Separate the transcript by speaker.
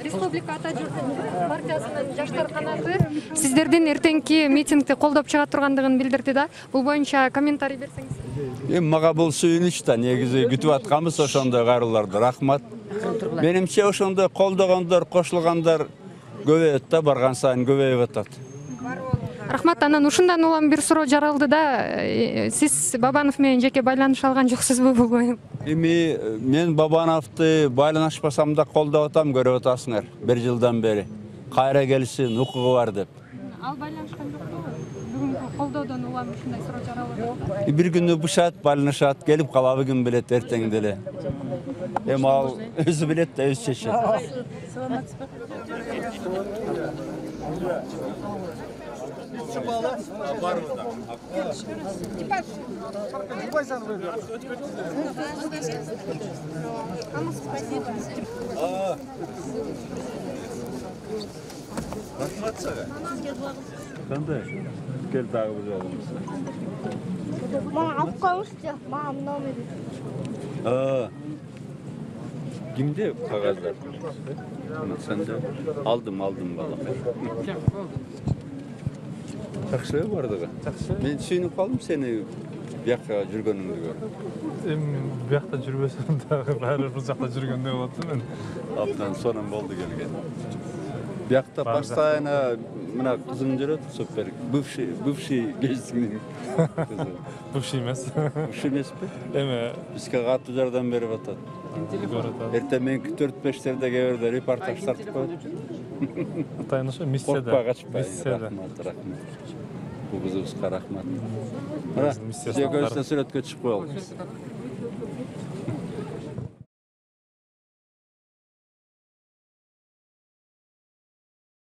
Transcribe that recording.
Speaker 1: Республика Ата Журт партиясынын жаштар канаты сиздердин эртеңки митингди колдоп чыга тургандыгын билдирди да. Бул боюнча комментарий берсеңиз.
Speaker 2: Мага бул сүйүнүч да, негизи күтүп атканбыз ошондой кайрыларды. Рахмат. Менимче ошондой колдогондор, кошулгандар көбөйөт да, барган сайын көбөйүп атат.
Speaker 1: Рахмат. Анан ушундан улам бир суроо жаралды да. Сиз Бабанов менен жеке байланыш алган жоксузбу бул боюнча?
Speaker 2: Эми мен Бабановду байланышпасам да колдоп атам, көрүп атасыңар. 1 жылдан бери. Кайра келсин, укугу бар деп.
Speaker 1: Ал байланышкан жокпу? Бүгүнкү колдоодон улам ушундай суроо жаралды.
Speaker 2: Бир күнү бушат, байланышат, келип калабы ким билет эртең деле. Эми ал өзү билет да, өзү чечет.
Speaker 3: Рахмат сага.
Speaker 2: Кандай? Кел дагы бир жолу.
Speaker 4: Мага алып коюңузчу, мага номер.
Speaker 2: Кимде кагаздар? Сенде? Алдым бала. Жакшы бардыгы. Мен сүйүнүп калдым сени бияка жүргөнүңдү көрүп.
Speaker 5: Эми биякта жүрбөсөм дагы баары бул жакта жүргөндөй болот да мен.
Speaker 2: Абдан сонун болду келген. Биякта постоянно мына кызың жүрөт, супер. Бывший кезиңдин кызы.
Speaker 5: Бывший эмес.
Speaker 2: Бывший эмеспи?
Speaker 5: Эми
Speaker 2: Бизге катуу жардам берип атат. Эртең менки 4-5-терде кээ бирде репортаж тартып коет.
Speaker 5: атайын ошо миссияда.
Speaker 2: Коркпа, качпа.
Speaker 5: Миссияда.
Speaker 2: Рахмат. Бул кызыбызга рахмат. Мына, сиздерге сүрөткө чыгып коелук.